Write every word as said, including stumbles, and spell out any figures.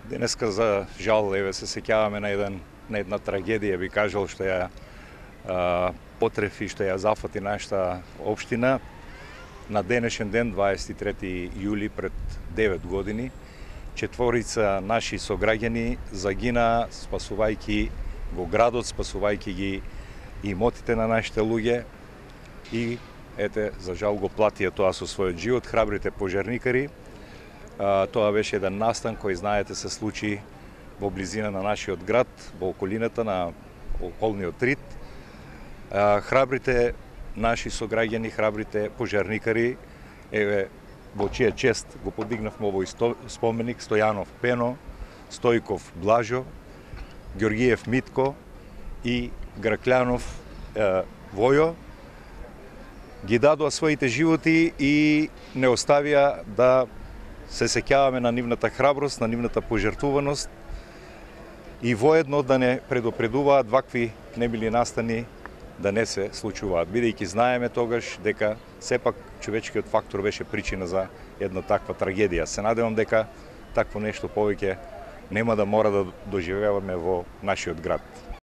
Денеска за жал еве се сеќаваме на еден на една трагедија, би кажал, што ја а, потрефи, што ја зафати нашата општина. На денешен ден, дваесет и трети јули, пред девет години, четворица наши сограѓани загина спасувајќи го градот, спасувајќи ги имотите на нашите луѓе и ете, за жал го платија тоа со својот живот. Храбрите пожарникари. А, тоа беше еден настан кој, знаете, се случи во близина на нашиот град, во околината на околниот Рид. А, храбрите наши сограѓани, храбрите пожарникари, еве, во чија чест го подигнавме овој споменик: Стојанов Пено, Стојков Блажо, Ѓоргиев Митко и Граклјанов е, Војо. Ги дадоа своите животи и не оставија да се сеќаваме на нивната храброст, на нивната пожртвуваност и воедно да не предупредуваат вакви немили настани да не се случуваат, бидејќи знаеме тогаш дека сепак човечкиот фактор беше причина за една таква трагедија. Се надевам дека такво нешто повеќе нема да мора да доживееме во нашиот град.